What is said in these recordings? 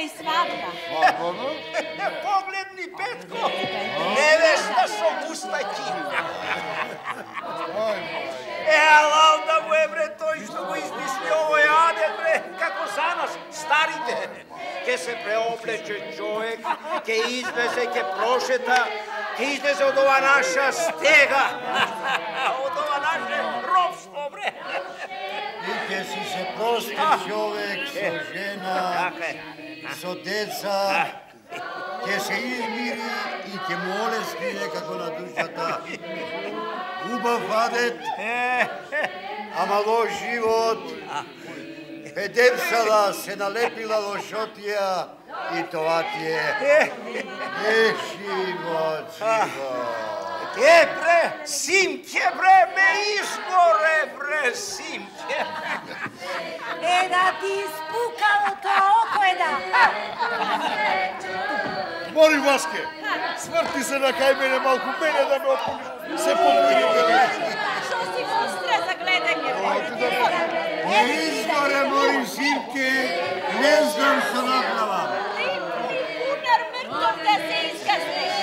и свадба. Свадба? Погледни, Петко, невеста со мустаки. Алал да му е, бре, тој што го измисли овој адет, бре, како за нас, старите. Ке се преоблече човек, ке излезе, ке прошета, ке излезе од ова наша стега, од ова наше робство, бре. И ке си се прости човек со жена, со деца, ке се измири и ке молести некако на душата. Убав адет, ама лош живот. Педепсала се налепила лошотија и тоа ти е. Живот, живот. Бре, Симке, бре, ме изгоре, бре, Симке. Да ти испукало тоа око да. Мори, Васке, сврти се на кај мене малку, мене да ме отпомиш. Се помири. Што си го устре за гледање? Не изгоре, мори, Симке, не знам што направам. Умер мртов да се изгаснеш.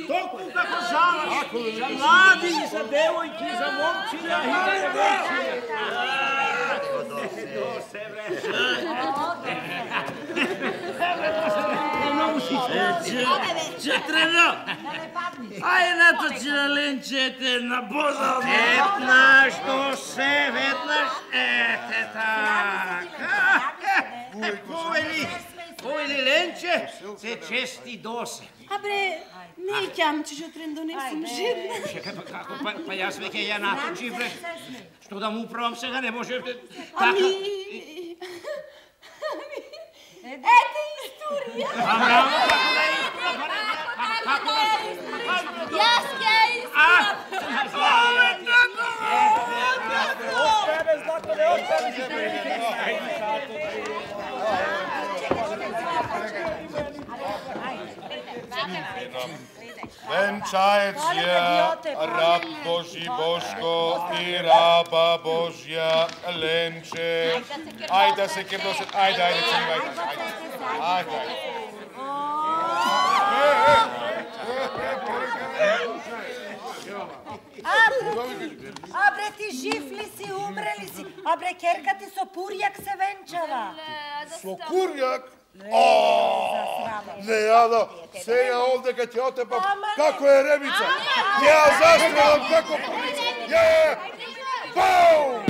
Толку како жалаш, за млади и за девојки, за момчиња и за девојчиња. Досе, бре. Четрено! Ај наточи на ленчете на боза! Веднаш досе, веднаш, ете така. Повели ленче, се чести досе. Бре, не ќам, че што трен донесам жена. Чекај, како, па јас веќе ја наточи, бре. Што да му управам сега, не може... Така... Ете историја. Браво, како да е историја? Како да е историја? Јас ќе историја. Венчаец ја, раб Божи Бошко и раба Божја Ленче. Ајде да се кебносет, ајде, ајде. Бре, ти жив ли си, умре ли си? Бре, керка ти со пурјак се венчава. Со курјак? Не јадо, сега овде ка ќе отепам, како е ребица. Ја застрелам како пурица. Бау!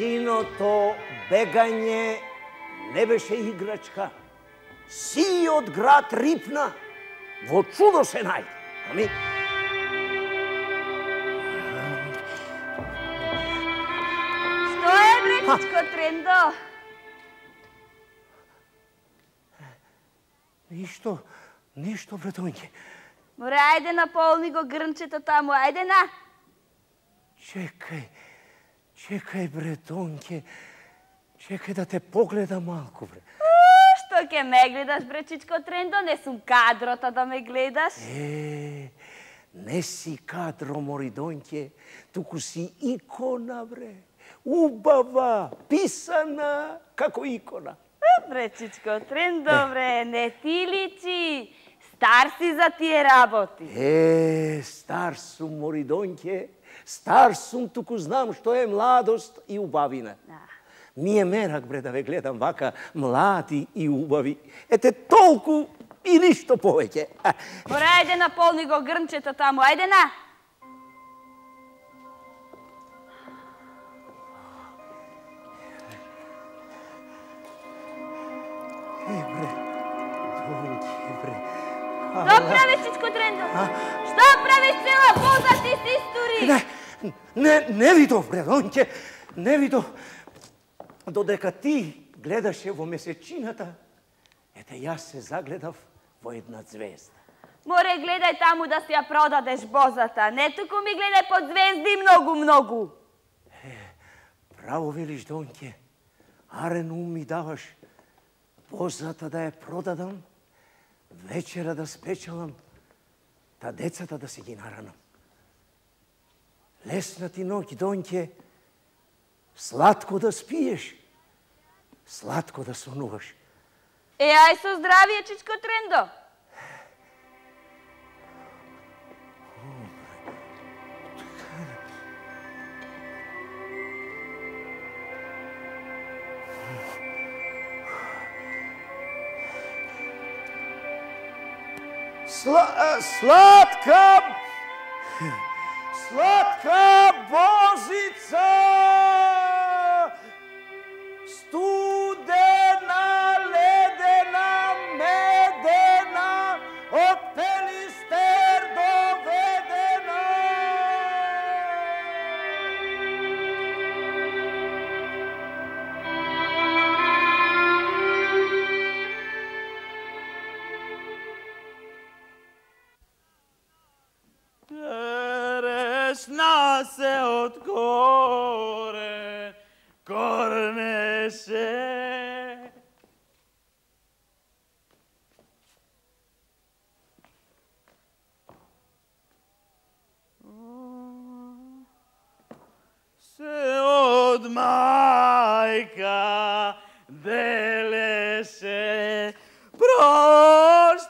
Синото бегање не беше играчка. Сиот град рипна, во чудо се најде. Ами? Што е, бретичко Трендо? Ништо, бретонјке. Море, ајде наполни го грнчето таму, ајде на. Чекај, бретонјке. Чекај да те погледа малку, бре. Што ке ме гледаш, бречичко Трендо? Не сум кадрота да ме гледаш. Не си кадро, моридонјке, туку си икона, бре. Убава, писана како икона. Бречичко Трендо, бре, не ти личи. Стар си за тие работи. Стар сум, моридонјке. Стар сум, туку знам што е младост и убавина. Ми е мерак, бре, да ве гледам вака млади и убави. Ете, толку и ништо повеќе. Море, ајде наполни го грнчето таму, ајде на. Бре, донјке, бре. Што правиш, чичко Трендо? Што правиш цела поза ти си истори? Не видов, бре, донјке, не видов. Додека ти гледаше во месечината, ете, јас се загледав во една звезда. Море, гледај таму да си ја продадеш бозата. Не туку ми гледај под звезди многу. Право велиш, донјке. Арен ум ми даваш бозата да ја продадам, вечера да спечелам, та децата да си ги наранам. Лесна ти ноќ, донјке, сладко да спиеш, сладко да сонуваш. Ај со здравие, чичко Трендо. Сладка бозица, студена, ледена, медена, од Пелистер доведена. Решна се од корнеше. Се од мајка делеше. Проштевај.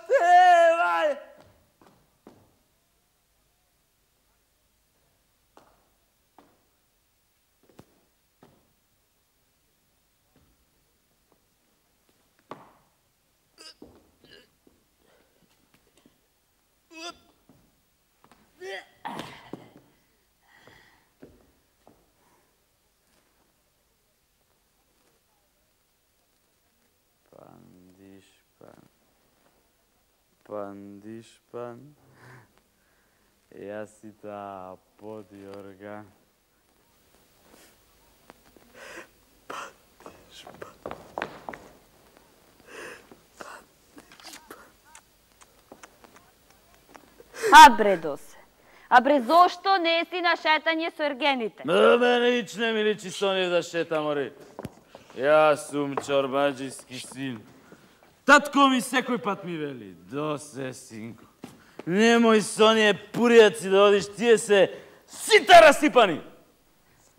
Пандишпан, јас си таа подјорга. Бре, Досе. Бре, зошто не си на шетање со ергените? Мене ич не ми личи со нив да шетам, ори. Јас сум чорбаџиски син. Татко ми секој пат ми вели, Досе, синко, немој со оние пуријаци да одиш, тие се сите расипани.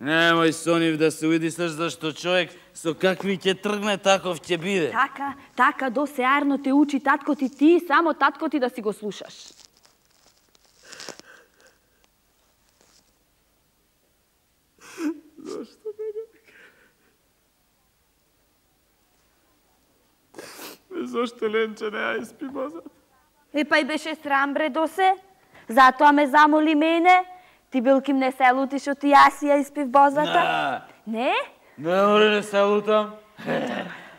Немој со нив да се уидисаш, зашто човек со какви ќе тргне, таков ќе биде. Така, Досе, арно те учи татко ти само татко ти да си го слушаш. Зошто не? Зошто Ленче не ја испи бозата? Па и беше срам, бре, Досе. Затоа ме замоли мене. Ти билки ме се лутиш од јас ја испив бозата. Не? Не се лутам.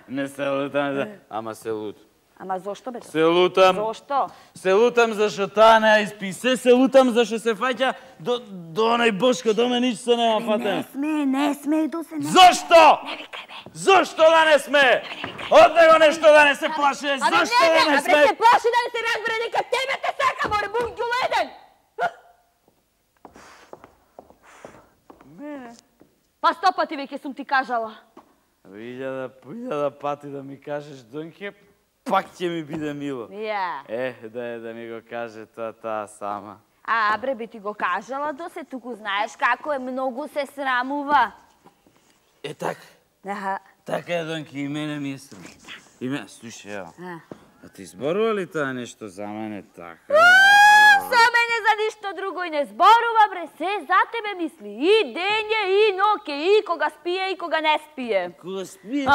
Не се лутам, ама се лут. Ама зошто бе? Се лутам. Зошто? Се лутам зашто таа не ја исписе, се лутам зашто се фаќа до онај Бошко, до мене ништо се нема фатено. Не смее да се не. Зошто? Не викај бе. Зошто да не смее? Од него нешто да не се плаше, зошто да не смее? Абе се плаши да не се разбере дека тебе те сака, море бунгју леден. Мене? Па 100 пати веќе сум ти кажала. Илјада пати да ми кажеш Донке, пак ќе ми биде мило. Ја. Да ми го каже таа сама. Бре, би ти го кажала досе, туку знаеш како е, многу се срамува. Така. Аха. Така е, Донке, и мене ми е срам. Слушај, ево. А ти зборува ли таа нешто за мене така? За мене за ништо друго и не зборува, бре, се за тебе мисли. И дење, и ноќе, и кога спие, и кога не спие. Кога спие?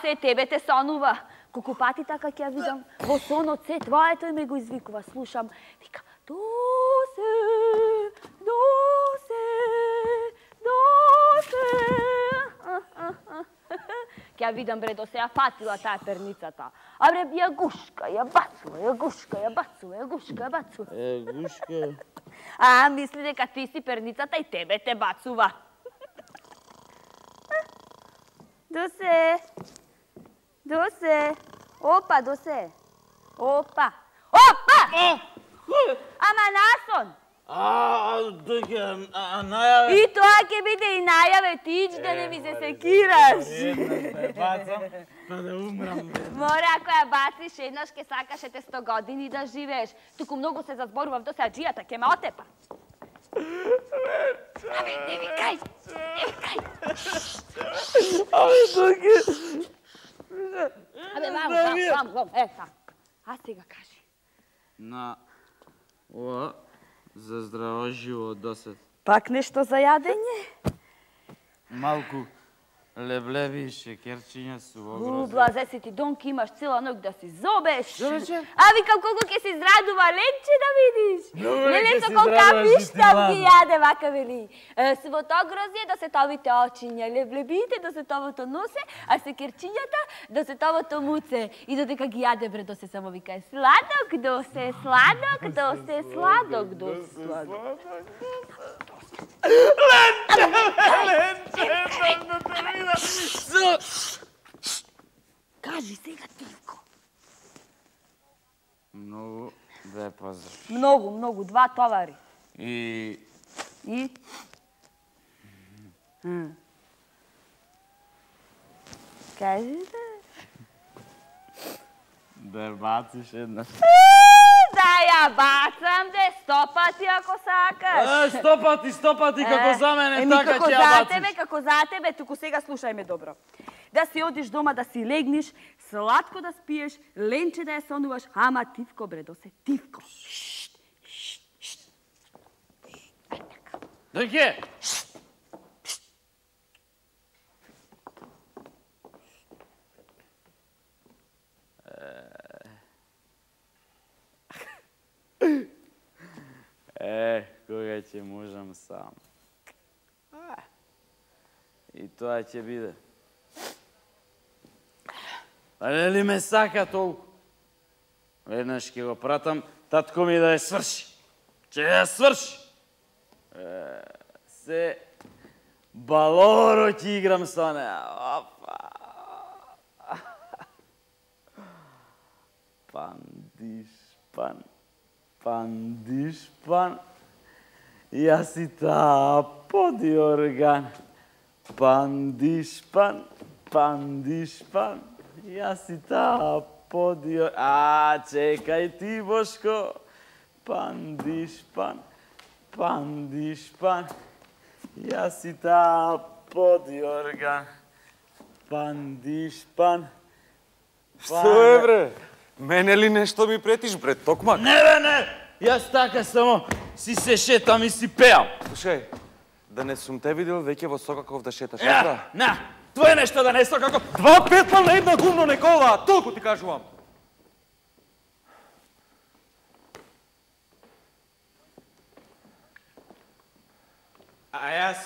Се тебе те сонува. Колку пати така ќе ја видам, во сонот се твоето име го извикува. Слушам, вика, Досе, Досе, Досе. Ќе ја видам, бре, Досе, ја фатила таа перницата. Бре, ја гушка, ја бацува, ја гушка, ја бацува, ја гушка, ја бацува. Гушка. Мисли дека ти си перницата и тебе те бацува. Досе. Досе. Опа, Досе. Опа. Опа! Ама насон. Донке, најаве. И тоа ќе биде и најаве, ти ич да не ми се секираш. Бацам, па да умрам. Море, ако ја бациш еднаш, ке сакаш ете 100 години да живееш. Туку многу се заборував, до сега джијата ке ме отепа. Не викај, не викај. Донке. Вам, така. А сега кажи. Ова, за здраво живот досед. Пак нешто за јадење? Малку леблеби и шекерчиња су огрозни. Блазе си ти, Донки, имаш цела ног да си зобеш. Зобеше? Викам колку ќе се израдува ленче да видиш. Ленче колка пиштав ги јаде, вака вели. Свотогрозје да се товите очиња, леблебите да се товото носе, а секерчињата да се товото муце. И додека ги јаде, бре, Досе само вика сладок, Досе, сладок, Досе, сладок, Досе. Ленче, кажи сега тивко. Многу да ја пазиш. Многу, 2 товари. И Кажи да. да ја бациш еднаш. Да ја бацам, 100 пати ако сакаш. 100 пати, како за мене, така ќе ја бациш. Како за тебе, туку сега слушај ме добро. Да си одиш дома, да си легниш, сладко да спиеш, ленче да ја сонуваш, ама тивко, бре, Досе, тивко. Донке! Кога ќе можам сам. И тоа ќе биде. А нели ме сака толку? Веднаш ќе го пратам татко ми да ја сврши. Ќе ја сврши. Се балоро ќе играм со неа. Пандишпан, пандишпан, јас и таа подиорган. Пандишпан, пандишпан, јас и таа подиорган. Чекај ти, Бошко. Пандишпан, пандишпан, јас и таа подиорган. Пандишпан. Што е, бре? Мене ли нешто ми претиш, бре, токмак? Не, бе, не! Јас така само си се шетам и си пеам. Слушај, да не сум те видел веќе во Сокаков да шеташ, Ја, бра? на, твое нешто да не е Сокаков. 2 петла на една гумно некола, толку ти кажувам. А јас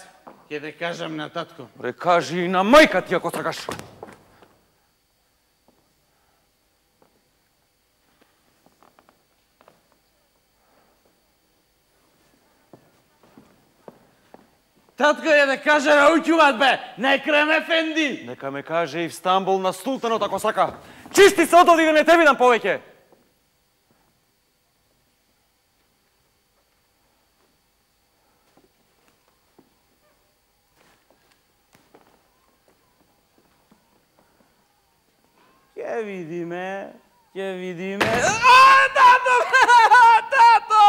Ќе те кажам на татко. Бре, кажи и на мајка ти ако сакаш. Татко ја да каже на уќуват, бе! На Екрем ефенди! Нека ме каже и в Стамбул на султанот ако сака. Чисти се ододи да не те видам повеќе. Ќе видиме, ќе видиме. Тато! Тато!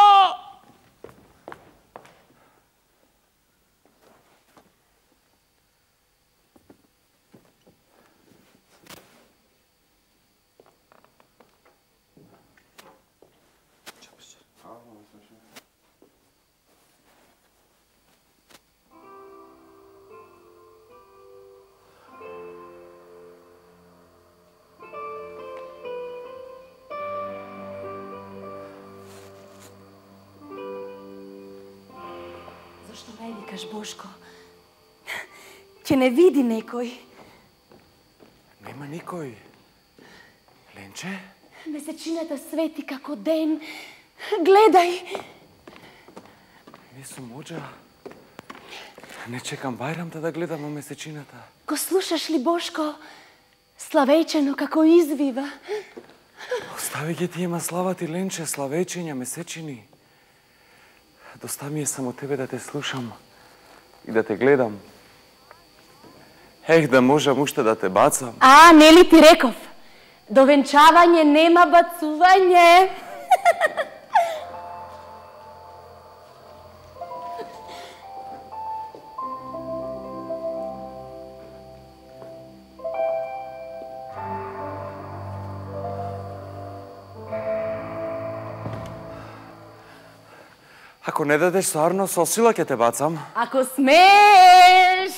Зашто не викаш, Бошко? Ќе не види некој. Нема никој. Ленче? Месечината свети како ден. Гледај! Не сум моđа. Не чекам Бајрамта да гледам на месечината. Го слушаш ли, Бошко? Славејчено како извива. Остави ги ти има слава ти, Ленче, славејчења, месечини. Доста ми е само тебе да те слушам и да те гледам. Ех, да можам уште да те бацам. А, нели ти реков? До венчавање нема бацување. Ако не дадеш со Арно, со сила ќе те бацам. Ако смееш!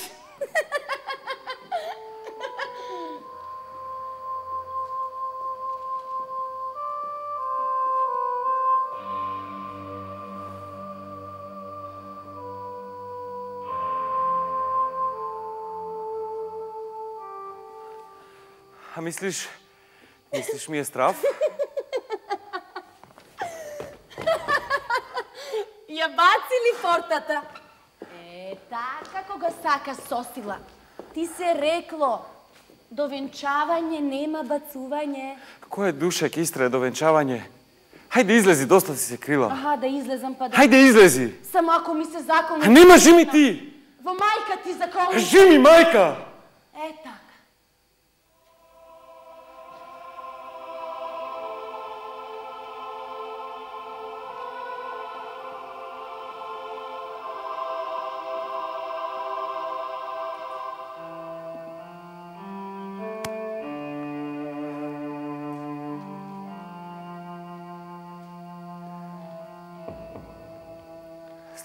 А мислиш ми е страв? Ја баци ли портата? Така кога сака сосила. Ти се рекло, до венчавање нема бацување. Кој душек истре до венчавање? Хајде излези, доста си се крила. Аха, да излезам па да... Хајде излези! Само ако ми се закони... А нема жими ти! Во мајка ти закони... Жими, мајка! Така.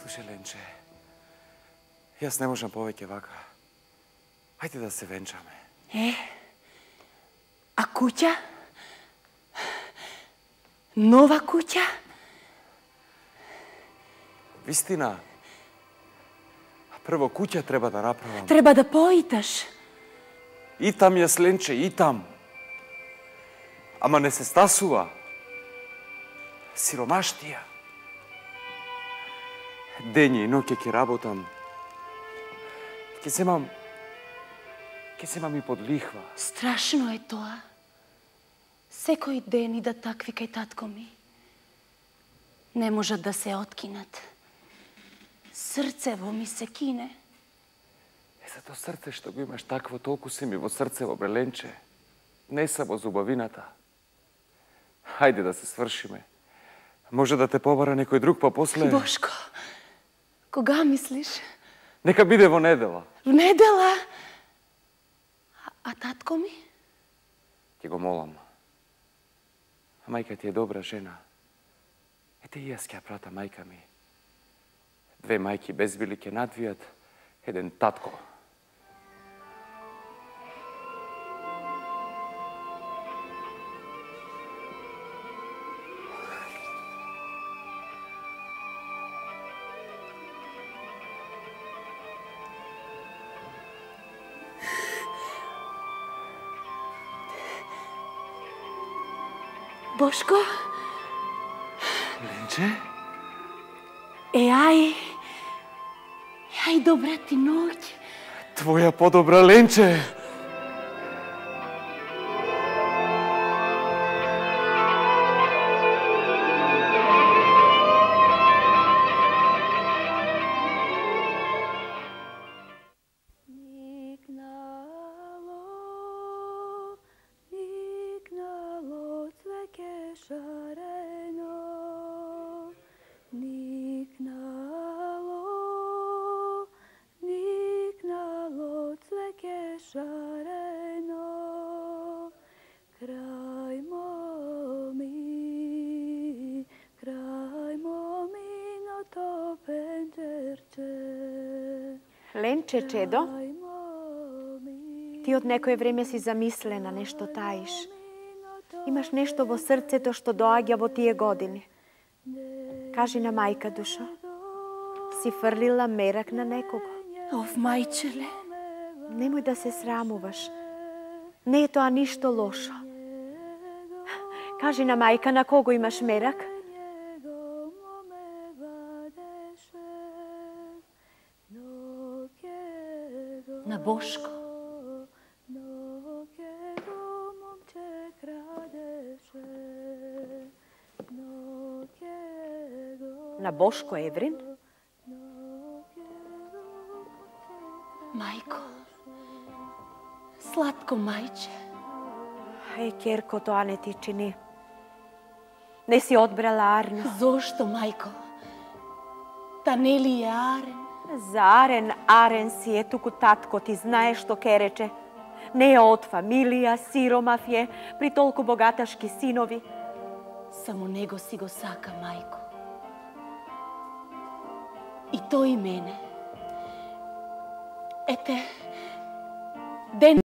Слушај, Ленче, јас не можам повеќе вака. Хајде да се венчаме. А куќа? Нова куќа? Вистина. Прво куќа треба да направам. Треба да поиташ. И там јас, Ленче, и там. Ама не се стасува. Сиромаштија. Дење и ноќе ќе работам. Ќе земам и под лихва. Страшно е тоа. Секој ден и да такви кај татко ми. Не можат да се откинат. Срцево ми се кине. За то срце што го имаш такво, толку си ми во срцево, бре, Ленче. Не само зубавината. Хајде да се свршиме. Може да те побара некој друг, па после... Бошко, кога мислиш? Нека биде во недела. В недела? А татко ми? Ќе го молам. А мајка ти е добра жена. Ете и јас ќе ја прата мајка ми. Две мајки безбили ќе надвијат еден татко. Бошко? Ленче? Ај добра ти ноќ. Твоја подобра, Ленче. Ленче, чедо, ти од некое време си замислена, нешто таиш. Имаш нешто во срцето што доаѓа во тие години. Кажи на мајка, душо, си фрлила мерак на некого? Ов, мајчеле. Немој да се срамуваш. Не е тоа ништо лошо. Кажи на мајка на кого имаш мерак? На Бошко. На Бошко Еврин? Мајко, сладко мајче. Керко, тоа не ти чини. Не си одбрала Арно. Зошто, мајко? Та нели е Арен? За Арен си е, туку татко ти знае што ке рече. Не е од фамилија, сиромав е, при толку богаташки синови. Само него си го сака, мајко. И тој и мене. Ете, ден